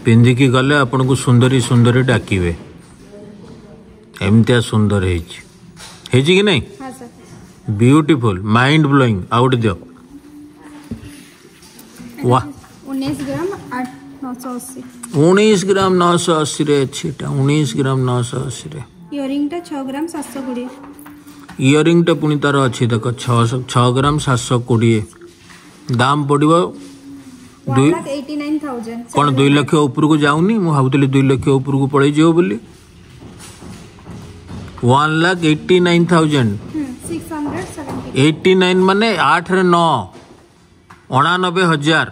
ପିନ୍ଧିକି ଗଲେ ଆପଣଙ୍କୁ ସୁନ୍ଦରୀ ସୁନ୍ଦରୀ ଡାକିବେ। ଏମିତିଆ ସୁନ୍ଦର ହେଇଛି। ହେଇଛି କି ନାଇଁ? ହଁ ସାର୍। Beautiful, mind blowing. ଆଉ ଗୋଟେ ଦିଅ। ୱାହ! 19 ଗ୍ରାମ 980। 19 ଗ୍ରାମ 980ରେ ଅଛି ଏଇଟା। 19 ଗ୍ରାମ 980ରେ। ଇୟରିଂଟା 6 ଗ୍ରାମ 720। ଇୟରିଂଟା ପୁଣି ତାର ଅଛି, ଦେଖ, 6 ଗ୍ରାମ 720। ଦାମ ପଡ଼ିବ ୱାନ୍ ଦୁଇ ଲାଖ 89,000। କ'ଣ 2 ଲକ୍ଷ ଉପରକୁ ଯାଉନି? ମୁଁ ଭାବୁଥିଲି 2 ଲକ୍ଷ ଉପରକୁ ପଳେଇଯିବ ବୋଲି। 1,89,000। 670। 89 ମାନେ ଆଠରେ ନଅ, 89,000।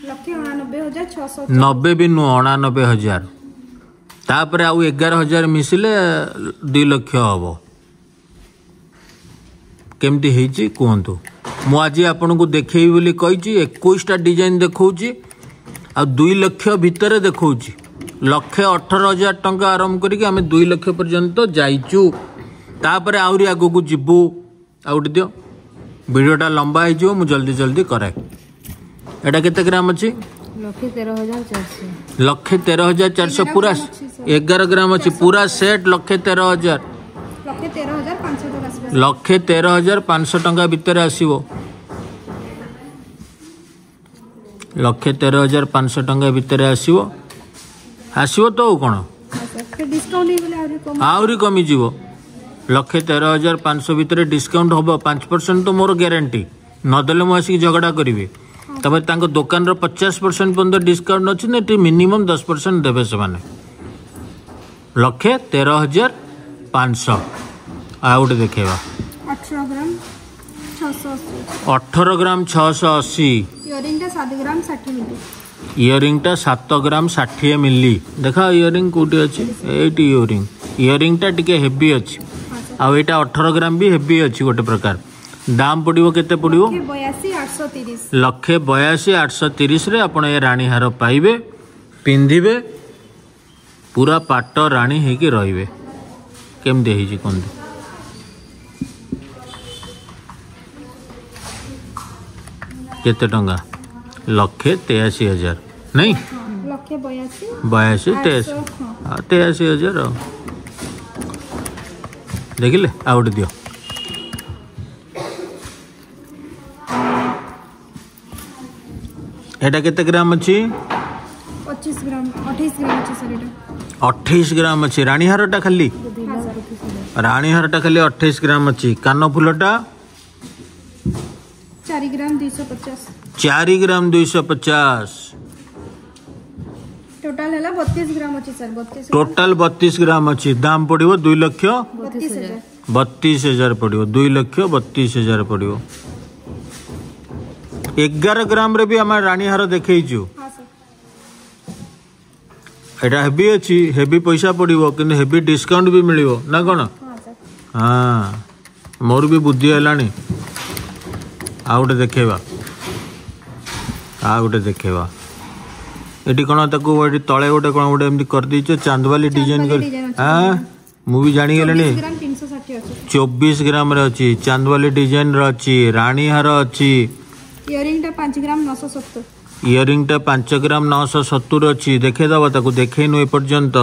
1,89,600। 90 ବି ନୁହଁ, 89,000। ତାପରେ ଆଉ 11,000 ମିଶିଲେ 2 ଲକ୍ଷ ହବ। କେମିତି ହେଇଛି କୁହନ୍ତୁ। ମୁଁ ଆଜି ଆପଣଙ୍କୁ ଦେଖେଇବି ବୋଲି କହିଛି, 21ଟା ଡିଜାଇନ୍ ଦେଖାଉଛି ଆଉ 2 ଲକ୍ଷ ଭିତରେ ଦେଖାଉଛି। 1,18,000 ଟଙ୍କା ଆରମ୍ଭ କରିକି ଆମେ 2 ଲକ୍ଷ ପର୍ଯ୍ୟନ୍ତ ଯାଇଛୁ। ତାପରେ ଆହୁରି ଆଗକୁ ଯିବୁ। ଆଉ ଗୋଟେ ଦିଅ, ଭିଡ଼ିଓଟା ଲମ୍ବା ହେଇଯିବ, ମୁଁ ଜଲ୍ଦି ଜଲ୍ଦି କରାଏ। ଏଇଟା କେତେ ଗ୍ରାମ ଅଛି? 1,13,400। 1,13,400। ପୁରା 11 ଗ୍ରାମ ଅଛି। ପୁରା ସେଟ୍ 1,13,000। 1,13,500 ଟଙ୍କା ଆସିବ। 1,13,500 ଟଙ୍କା ଭିତରେ ଆସିବ। 1,13,500 ଟଙ୍କା ଭିତରେ ଆସିବ। ଆସିବ ତ ଆଉ କ'ଣ? ହଁ ସାର୍, ଫିର୍ ଡିସକାଉଣ୍ଟ ହେଇଗଲେ ଆହୁରି କମ୍। ଆହୁରି କମିଯିବ। 1,13,500 ଭିତରେ ଡିସକାଉଣ୍ଟ ହେବ 5% ତ ମୋର ଗ୍ୟାରେଣ୍ଟି। ନଦେଲେ ମୁଁ ଆସିକି ଝଗଡ଼ା କରିବି। ତାପରେ ତାଙ୍କ ଦୋକାନର 50% ପର୍ଯ୍ୟନ୍ତ ଡିସକାଉଣ୍ଟ ଅଛି ନା, ଏଠି ମିନିମମ୍ 10% ଦେବେ ସେମାନେ। 1,13,500। ଆଉ ଗୋଟେ ଦେଖେଇବା। 18 ଗ୍ରାମ 680। 18 ଗ୍ରାମ 680। ଇୟରିଂଟା 7 ଗ୍ରାମ 60 ମିଲି। ଇୟରିଂଟା 7 ଗ୍ରାମ 60 ମିଲି। ଦେଖ, ଇୟରିଂ କେଉଁଠି ଅଛି? ଏଇଠି ଇୟରିଂ। ଇୟରିଂଟା ଟିକେ ହେଭି ଅଛି। ହଁ ସାର୍। ଆଉ ଏଇଟା 18 ଗ୍ରାମ ବି ହେଭି ଅଛି ଗୋଟେ ପ୍ରକାର। ଦାମ ପଡ଼ିବ, କେତେ ପଡ଼ିବ? 1,82,830। 1,82,830ରେ ଆପଣ ଏ ରାଣୀ ହାର ପାଇବେ। ପିନ୍ଧିବେ, ପୁରା ପାଟ ରାଣୀ ହେଇକି ରହିବେ। କେମିତି ହେଇଛି କୁହନ୍ତୁ? କେତେ ଟଙ୍କା? 1,83,000, ନାଇଁ? ହଁ, 1,82। 82, 83। 800, ହଁ। ଆଉ 83,000। ଆଉ ଦେଖିଲେ, ଆଉ ଗୋଟେ ଦିଅ। ଏଇଟା କେତେ ଗ୍ରାମ ଅଛି? 25 ଗ୍ରାମ, 28 ଗ୍ରାମ ଅଛି ସାର୍ ଏଇଟା। 28 ଗ୍ରାମ ଅଛି ରାଣୀହାରଟା ଖାଲି। ହଁ ସାର୍। ରାଣୀହାରଟା ଖାଲି 28 ଗ୍ରାମ ଅଛି। କାନ ଫୁଲଟା? 4 ଗ୍ରାମ 250। 4 ଗ୍ରାମ 250। ଟୋଟାଲ ହେଲା 32 ଗ୍ରାମ ଅଛି ସାର୍, 32। ଟୋଟାଲ 32 ଗ୍ରାମ ଅଛି। ଦାମ ପଡ଼ିବ 2 ଲକ୍ଷ 32 ହଜାର। 32 ହଜାର ପଡ଼ିବ। 2,32,000 ପଡ଼ିବ। 11 ଗ୍ରାମରେ ବି ଆମେ ରାଣୀହାର ଦେଖେଇଛୁ। ହଁ ସାର୍। ଏଇଟା ହେଭି ଅଛି, ହେଭି ପଇସା ପଡ଼ିବ, କିନ୍ତୁ ହେଭି ଡିସକାଉଣ୍ଟ ବି ମିଳିବ ନା କ'ଣ? ହଁ ସାର୍। ହଁ, ମୋର ବି ବୁଦ୍ଧି ହେଲାଣି। ଆଉ ଗୋଟେ ଦେଖେଇବା, ଆଉ ଗୋଟେ ଦେଖେଇବା। ଏଠି କ'ଣ ତାକୁ ଏଠି ତଳେ ଗୋଟେ କ'ଣ ଗୋଟେ ଏମିତି କରିଦେଇଛ, ଚାନ୍ଦବାଲି ଡିଜାଇନ କରି। ଡିଜାଇନ ଅଛି। ହଁ, ମୁଁ ବି ଜାଣିଗଲିଣି। 24 ଗ୍ରାମ 360 ଅଛି। 24 ଗ୍ରାମରେ ଅଛି, ଚାନ୍ଦବାଲି ଡିଜାଇନର ଅଛି, ରାଣୀହାର ଅଛି। ଇୟରିଂଟା 5 ଗ୍ରାମ 970। ଇୟରିଂଟା 5 ଗ୍ରାମ 970 ଅଛି। ଦେଖେଇଦେବ ତାକୁ, ଦେଖେଇନୁ ଏପର୍ଯ୍ୟନ୍ତ।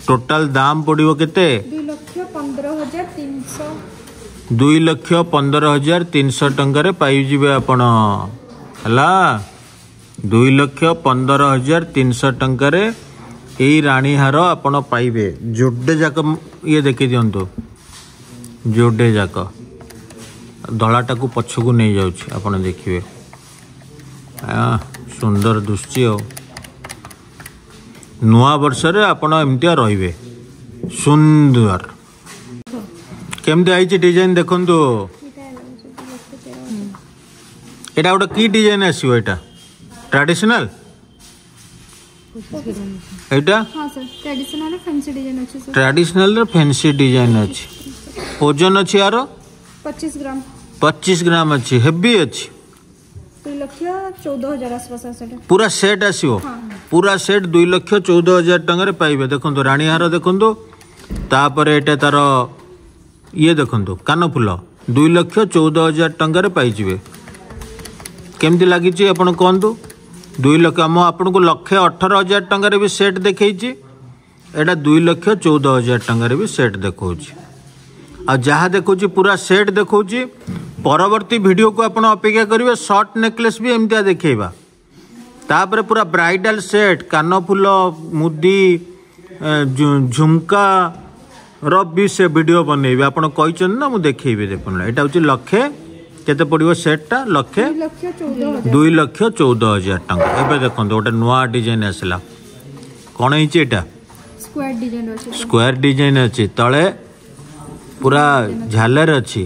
ଟୋଟାଲ ଦାମ ପଡ଼ିବ କେତେ? 2,15,300। 2,15,300 ଟଙ୍କାରେ ପାଇଯିବେ ଆପଣ। ହେଲା, 2,15,300 ଟଙ୍କାରେ ଏଇ ରାଣୀହାର ଆପଣ ପାଇବେ। ଯୋଡ଼େ ଯାକ ଇଏ ଦେଖି ଦିଅନ୍ତୁ, ଯୋଡ଼େ ଯାକ। ଧଳାଟାକୁ ପଛକୁ ନେଇଯାଉଛି, ଆପଣ ଦେଖିବେ। ସୁନ୍ଦର ଦୁଶୁଛି। ଆଉ ନୂଆ ବର୍ଷରେ ଆପଣ ଏମିତିଆ ରହିବେ ସୁନ୍ଦର। କେମିତି ହେଇଛି ଡିଜାଇନ ଦେଖନ୍ତୁ। ଏଇଟା 1,13,000। ଏଇଟା ଗୋଟେ କି ଡିଜାଇନ ଆସିବ? ଏଇଟା ଟ୍ରାଡିସନାଲ ଏଇଟା? ହଁ ସାର୍, ଟ୍ରାଡିସନାଲ ଫ୍ୟାନ୍ସି ଡିଜାଇନ ଅଛି ସାର୍। ଟ୍ରାଡିସନାଲର ଫ୍ୟାନ୍ସି ଡିଜାଇନ ଅଛି। ଓଜନ ଅଛି ଆର? 25 ଗ୍ରାମ। 25 ଗ୍ରାମ ଅଛି, ହେଭି ଅଛି। 2,14,000 ଆସିବ ସାର୍ ସେଟା। ପୁରା ସେଟ୍ ଆସିବ? ହଁ। ପୁରା ସେଟ୍ 2,14,000 ଟଙ୍କାରେ ପାଇବେ। ଦେଖନ୍ତୁ, ରାଣୀହାର ଦେଖନ୍ତୁ, ତାପରେ ଏଇଟା ତାର ଇଏ ଦେଖନ୍ତୁ, କାନଫୁଲ। 2,14,000 ଟଙ୍କାରେ ପାଇଯିବେ। କେମିତି ଲାଗିଛି ଆପଣ କୁହନ୍ତୁ? 2 ଲକ୍ଷ, ମୁଁ ଆପଣଙ୍କୁ 1,18,000 ଟଙ୍କାରେ ବି ସେଟ୍ ଦେଖେଇଛି, ଏଇଟା 2,14,000 ଟଙ୍କାରେ ବି ସେଟ୍ ଦେଖାଉଛି। ଆଉ ଯାହା ଦେଖାଉଛି ପୁରା ସେଟ୍ ଦେଖାଉଛି। ପରବର୍ତ୍ତୀ ଭିଡ଼ିଓକୁ ଆପଣ ଅପେକ୍ଷା କରିବେ। ସର୍ଟ ନେକଲେସ୍ ବି ଏମିତିଆ ଦେଖେଇବା। ତାପରେ ପୁରା ବ୍ରାଇଡାଲ ସେଟ୍, କାନଫୁଲ, ମୁଦି, ଝୁମକା ର ବି ସେ ଭିଡ଼ିଓ ବନେଇବି। ଆପଣ କହିଛନ୍ତି ନା, ମୁଁ ଦେଖେଇବି। ଦେଖନ୍ତୁ, ଏଇଟା ହେଉଛି ଲକ୍ଷେ କେତେ ପଡ଼ିବ ସେଟ୍ଟା? ଲକ୍ଷେ 2,14,000। 2,14,000 ଟଙ୍କା। ଏବେ ଦେଖନ୍ତୁ, ଗୋଟେ ନୂଆ ଡିଜାଇନ ଆସିଲା। କ'ଣ ହେଇଛି ଏଇଟା? ସ୍କୋୟାର ଡିଜାଇନ ଅଛି। ସ୍କୋୟାର ଡିଜାଇନ ଅଛି, ତଳେ ପୁରା ଝାଲର ଅଛି।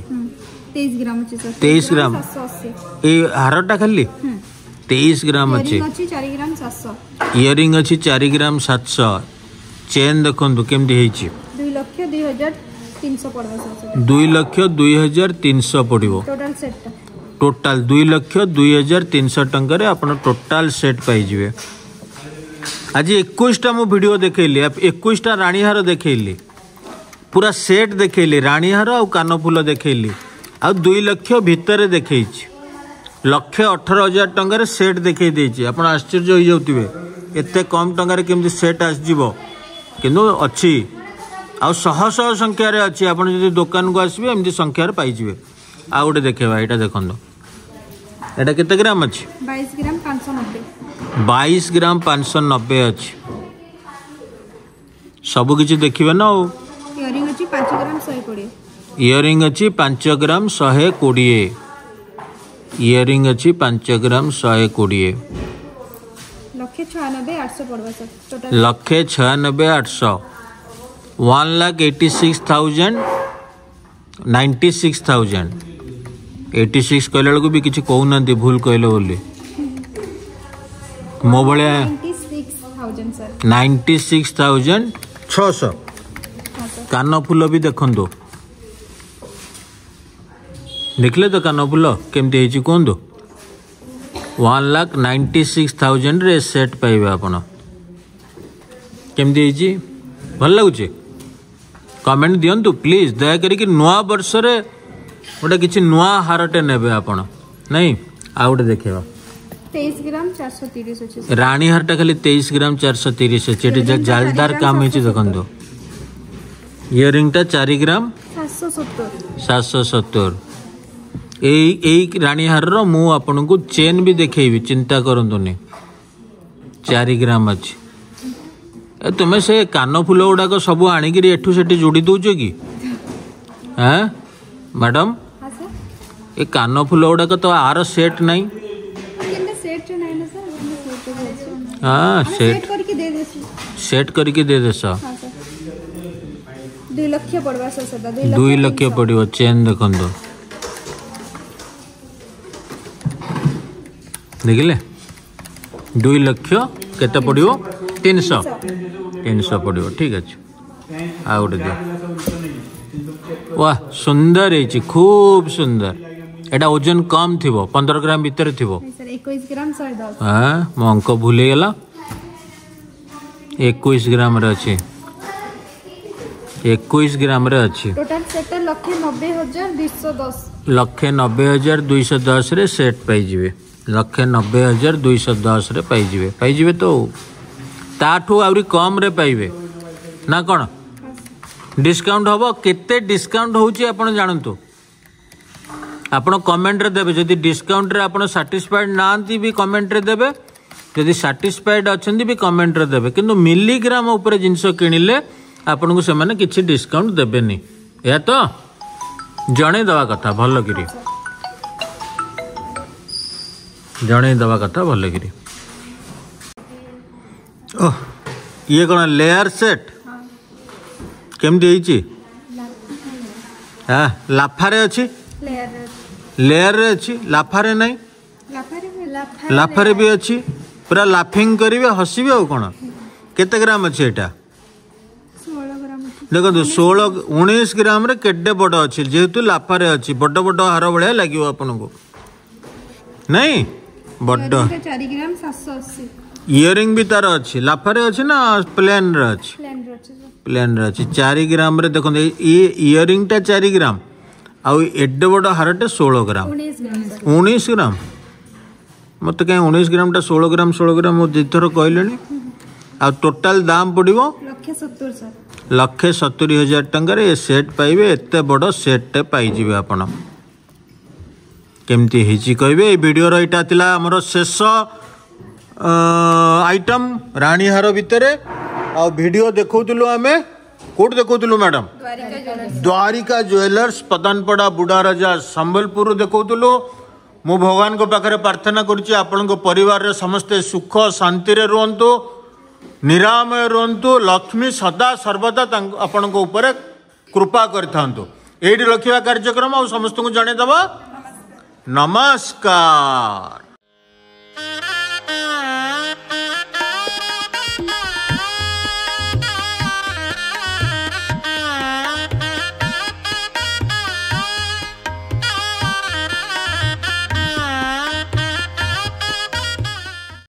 23 ଗ୍ରାମ ଅଛି ସାର୍। 23 ଗ୍ରାମ। 780। ଏଇ ହାରଟା ଖାଲି 23 ଗ୍ରାମ ଅଛି। ଇୟରିଂ ଅଛି 4 ଗ୍ରାମ 700। ଇୟରିଂ ଅଛି 4 ଗ୍ରାମ 700। ଚେନ୍ ଦେଖନ୍ତୁ କେମିତି ହେଇଛି। 2,02,300 ପଡ଼ିବ ସାର୍ ସେଟା। 2,02,300 ପଡ଼ିବ। ଟୋଟାଲ ସେଟ୍ଟା। ଟୋଟାଲ 2,02,300 ଟଙ୍କାରେ ଆପଣ ଟୋଟାଲ ସେଟ୍ ପାଇଯିବେ। ଆଜି 21ଟା ମୁଁ ଭିଡ଼ିଓ ଦେଖେଇଲି, 21ଟା ରାଣୀହାର ଦେଖେଇଲି, ପୁରା ସେଟ୍ ଦେଖେଇଲି, ରାଣୀହାର ଆଉ କାନଫୁଲ ଦେଖେଇଲି, ଆଉ 2 ଲକ୍ଷ ଭିତରେ ଦେଖେଇଛି। 1,18,000 ଟଙ୍କାରେ ସେଟ୍ ଦେଖେଇ ଦେଇଛି। ଆପଣ ଆଶ୍ଚର୍ଯ୍ୟ ହେଇଯାଉଥିବେ ଏତେ କମ୍ ଟଙ୍କାରେ କେମିତି ସେଟ୍ ଆସିଯିବ, କିନ୍ତୁ ଅଛି ଆଉ ଶହ ଶହ ସଂଖ୍ୟାରେ ଅଛି। ଆପଣ ଯଦି ଦୋକାନକୁ ଆସିବେ ଏମିତି ସଂଖ୍ୟାରେ ପାଇଯିବେ। ଆଉ ଗୋଟେ ଦେଖେଇବା, ଏଇଟା ଦେଖନ୍ତୁ, ଏଇଟା କେତେ ଗ୍ରାମ ଅଛି? 22 ଗ୍ରାମ 590। 22 ଗ୍ରାମ 590 ଅଛି। ସବୁ କିଛି ଦେଖିବେ ନା ଆଉ। ଇୟରିଂ ଅଛି 5 ଗ୍ରାମ 120। ଇୟରିଂ ଅଛି 5 ଗ୍ରାମ 120। ଇୟରିଂ ଅଛି 5 ଗ୍ରାମ 120। 1,96,800 ପଡ଼ବା ସାର୍ ଟୋଟାଲ। 1,96,800, 1,86,000, 96,000। 86 କହିଲା ବେଳକୁ ବି କିଛି କହୁନାହାନ୍ତି ଭୁଲ କହିଲେ ବୋଲି। ମୋ ଭଳିଆ 96,000 ସାର୍। 96,600। ହଁ ସାର୍। କାନଫୁଲ ବି ଦେଖନ୍ତୁ, ଦେଖିଲେ ତ କାନଫୁଲ କେମିତି ହେଇଛି କୁହନ୍ତୁ। 1,96,000ରେ ସେଟ୍ ପାଇବେ ଆପଣ। କେମିତି ହେଇଛି, ଭଲ ଲାଗୁଛି? କମେଣ୍ଟ ଦିଅନ୍ତୁ ପ୍ଲିଜ୍, ଦୟା କରିକି। ନୂଆ ବର୍ଷରେ ଗୋଟେ କିଛି ନୂଆ ହାରଟେ ନେବେ ଆପଣ, ନାଇଁ? ଆଉ ଗୋଟେ ଦେଖେଇବା। 23 ଗ୍ରାମ 430 ଅଛି। ରାଣୀ ହାରଟା ଖାଲି 23 ଗ୍ରାମ 430 ଅଛି। ଏଠି ଜାଲଦାର କାମ ହେଇଛି ଦେଖନ୍ତୁ। ଇୟରିଂଟା 4 ଗ୍ରାମ 770। 770। ଏଇ ଏଇ ରାଣୀ ହାରର ମୁଁ ଆପଣଙ୍କୁ ଚେନ୍ ବି ଦେଖେଇବି, ଚିନ୍ତା କରନ୍ତୁନି। 4 ଗ୍ରାମ ଅଛି। ଏ ତୁମେ ସେ କାନ ଫୁଲ ଗୁଡ଼ାକ ସବୁ ଆଣିକିରି ଏଠୁ ସେଠି ଯୋଡ଼ି ଦେଉଛ କି? ଆଁ ମ୍ୟାଡ଼ାମ୍, ହଁ ସାର୍। ଏ କାନ ଫୁଲ ଗୁଡ଼ାକ ତ ଆର ସେଟ୍ ନାହିଁ। କେନ୍ତା ସେଟ୍ରେ ନାହିଁ ନା ସାର୍, ସେଟ୍ରେ ଅଛି। ହଁ, ଆମେ ସେଟ୍ ସେଟ୍ କରିକି ଦେଇ ଦେସି। ସେଟ୍ କରିକି ଦେଇଦେସ। ହଁ ସାର୍, 2 ଲକ୍ଷ ପଡ଼ବା ସାର୍ ସେଟା। 2 ଲକ୍ଷ ପଡ଼ିବ। ଚେନ୍ ଦେଖନ୍ତୁ, ଦେଖିଲେ? 2 ଲକ୍ଷ କେତେ ପଡ଼ିବ? 300, 300 ପଡ଼ିବ। ଠିକ୍ ଅଛି, ଆଉ ଗୋଟେ ଦିଅ। ୱାହ, ସୁନ୍ଦର ହେଇଛି, ଖୁବ୍ ସୁନ୍ଦର। ଏଇଟା ଓଜନ କମ୍ ଥିବ, 15 ଗ୍ରାମ ଭିତରେ ଥିବ। ସାର୍, 21 ଗ୍ରାମ 110। ହଁ, ମୋ ଅଙ୍କ ଭୁଲ ହେଇଗଲା। 21 ଗ୍ରାମରେ ଅଛି, 21 ଗ୍ରାମରେ ଅଛି। ଟୋଟାଲ ସେଟ୍ଟା 1,90,210। 1,90,210ରେ ସେଟ୍ ପାଇଯିବେ। 1,90,210ରେ ପାଇଯିବେ, ପାଇଯିବେ ତ। ତାଠୁ ଆହୁରି କମ୍ରେ ପାଇବେ ନା କ'ଣ? ଡିସକାଉଣ୍ଟ ହେବ। କେତେ ଡିସକାଉଣ୍ଟ ହେଉଛି ଆପଣ ଜାଣନ୍ତୁ, ଆପଣ କମେଣ୍ଟରେ ଦେବେ। ଯଦି ଡିସକାଉଣ୍ଟରେ ଆପଣ ସାଟିସ୍ଫାଏଡ୍ ନାହାନ୍ତି ବି କମେଣ୍ଟରେ ଦେବେ, ଯଦି ସାଟିସ୍ଫାଏଡ୍ ଅଛନ୍ତି ବି କମେଣ୍ଟରେ ଦେବେ। କିନ୍ତୁ ମିଲିଗ୍ରାମ ଉପରେ ଜିନିଷ କିଣିଲେ ଆପଣଙ୍କୁ ସେମାନେ କିଛି ଡିସକାଉଣ୍ଟ ଦେବେନି। ଏହା ତ ଜଣେଇ ଦେବା କଥା ଭଲକିରି, ଜଣେଇ ଦେବା କଥା ଭଲକିରି। ଓହ, ଇଏ କ'ଣ ଲେୟାର ସେଟ୍? କେମିତି ହେଇଛି? ହଁ, ଲାଫାରେ ଅଛି। ଲେୟାରରେ। ଲେୟାରରେ ଅଛି, ଲାଫାରେ ନାହିଁ। ଲାଫାରେ। ଲାଫାରେ ବି ଅଛି। ପୁରା ଲାଫିଂ କରିବେ, ହସିବେ ଆଉ କ'ଣ। କେତେ ଗ୍ରାମ ଅଛି ଏଇଟା? 16 ଗ୍ରାମ ଅଛି। ଦେଖନ୍ତୁ, 16, 19 ଗ୍ରାମରେ କେତେ ବଡ଼ ଅଛି। ଯେହେତୁ ଲାଫାରେ ଅଛି, ବଡ଼ ବଡ଼ ହାର ଭଳିଆ ଲାଗିବ ଆପଣଙ୍କୁ, ନାଇଁ? ବଡ଼। 4 ଗ୍ରାମ 780। ଇୟରିଂ ବି ତାର ଅଛି। ଲାଫାରେ ଅଛି ନା ପ୍ଲେନ୍ରେ ଅଛି? ପ୍ଲେନ୍ରେ ଅଛି ସାର୍। ପ୍ଲେନ୍ରେ ଅଛି। 4 ଗ୍ରାମରେ ଦେଖନ୍ତୁ, ଇଏ ଇୟରିଂଟା 4 ଗ୍ରାମ ଆଉ ଏଡ଼େ ବଡ଼ ହାରଟେ 16 ଗ୍ରାମ। 19 ଗ୍ରାମ ସାର୍। 19 ଗ୍ରାମ? ମୋତେ କାହିଁ 19 ଗ୍ରାମଟା 16 ଗ୍ରାମ, 16 ଗ୍ରାମ ମୁଁ ଦୁଇଥର କହିଲେଣି। ଆଉ ଟୋଟାଲ ଦାମ ପଡ଼ିବ 1,70,000 ସାର୍। 1,70,000 ଟଙ୍କାରେ ଏ ସେଟ୍ ପାଇବେ। ଏତେ ବଡ଼ ସେଟ୍ଟେ ପାଇଯିବେ ଆପଣ। କେମିତି ହେଇଛି କହିବେ। ଏଇ ଭିଡ଼ିଓର ଏଇଟା ଥିଲା ଆମର ଶେଷ ଆଇଟମ୍ ରାଣୀହାର ଭିତରେ। ଆଉ ଭିଡ଼ିଓ ଦେଖାଉଥିଲୁ ଆମେ, କୋଉଠି ଦେଖାଉଥିଲୁ madam? Dwarika jewellers. Dwarika jewellers, Padanpada, Budharaja, ସମ୍ବଲପୁରରୁ ଦେଖାଉଥିଲୁ। ମୁଁ ଭଗବାନଙ୍କ ପାଖରେ ପ୍ରାର୍ଥନା କରୁଛି ଆପଣଙ୍କ ପରିବାରରେ ସମସ୍ତେ ସୁଖ ଶାନ୍ତିରେ ରୁହନ୍ତୁ, ନିରାମୟ ରୁହନ୍ତୁ, ଲକ୍ଷ୍ମୀ ସଦା ସର୍ବଦା ତାଙ୍କ ଆପଣଙ୍କ ଉପରେ କୃପା କରିଥାନ୍ତୁ। ଏଇଠି ରଖିବା କାର୍ଯ୍ୟକ୍ରମ ଆଉ ସମସ୍ତଙ୍କୁ ଜଣେଇଦେବା ନମସ୍କାର।